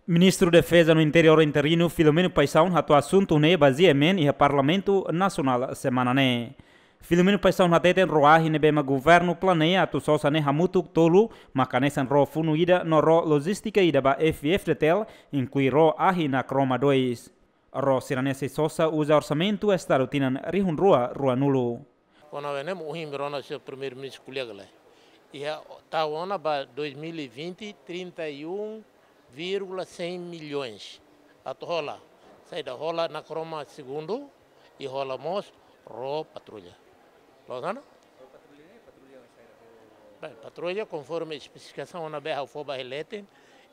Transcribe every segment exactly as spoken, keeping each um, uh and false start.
Ministru Defeza no Interiór interinu Filomeno Paixão hato'o asuntu ne'e ba GMN iha Parlamentu Nasionál semana ne'e. Filomeno Paixão hateten ró ahi ne'ebé mak governu planeia atu sosa ne'e hamutuk tolu, maka hanesan ró funu ida no ró lojístika ida ba F-FDTL, inklui ró ahi Nakroma dois. Ró sira-ne'e sei sosa uza orsamentu estadu tinan rihun rua ruanulu. Kona-ba ne'e mak ohin imi rona señór Primeiru-Ministru ko'alia lai. Iha taun ona ba dois mil e vinte, trinta e um vírgula cem milhões. Atu hola, saida, hola Nakroma segundu, i hola mós ró patrulla. Loos ona? Bem, patrulla konforme espesifikasaun ne'ebé ha'u fó ba iha leten,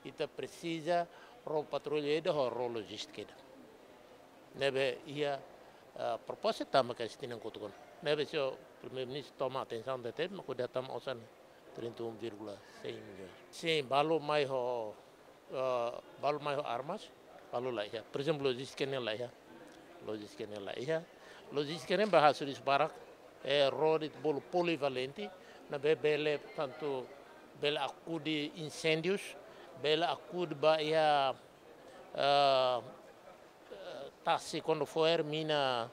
ita presiza ró patrulla ida ho ró lojístika ida. Ne'ebé iha, ah, proposta tanba ke tinan kotuk ona. Ne'ebé señór Primeiru-Ministru toma atensaun de'it, mak hodi hatama osan trinta e um vírgula cem milhões. Sin, balu mai ho, ah, balu mai ho armas, balu la iha. Por ezemplu, lojístika ne'e la iha. Lojístika ne'e la iha. Lojístika ne'e ba hasoru barak, eh, ró ida bolu polivalente, ne'ebé bele, portantu, bele akude inséndius, bele akude ba iha, ah, eh, tasi kuandu fo'er mina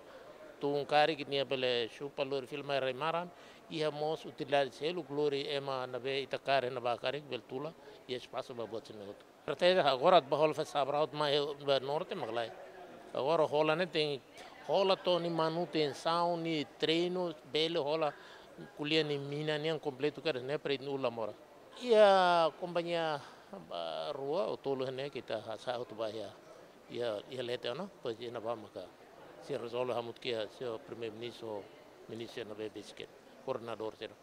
tun karik nia bele xupa lori fila mai rai-maran, iha mós utilidade seluk lori ema ne'ebé ita kaer ne'ebá karik bele tula, iha espasu ba buat sira-ne'e hotu. Estratéjia agora ba hola festa abraut mai ba norte mak lae. Agora hola ne'e tenke hola to'o nia manutensaun, nia treinu, bele hola ko'alia nia mina nian kompletu karik ne'e para ita uluk la moras. Iha kompañia, ah, rua ou tolu ne'e ita hasa'e hotu ba iha, iha, iha leten ona, depois iha ne'ebá maka sei rezolve hamutuk iha señór Primeiru-Ministru, ministru ne'ebé besik, koordenadór sira.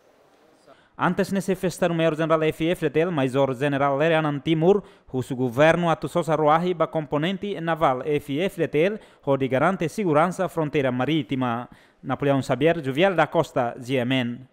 Antes ne'e xefe Estadu-Maiór Jenerál F-FDTL, Majór Jenerál Lere Anan Timur, husu governu atu sosa ró ahi ba komponente navál F-FDTL, hodi garante seguransa fronteira marítima. Napoleão Xavier, Juvial da Costa, GMN.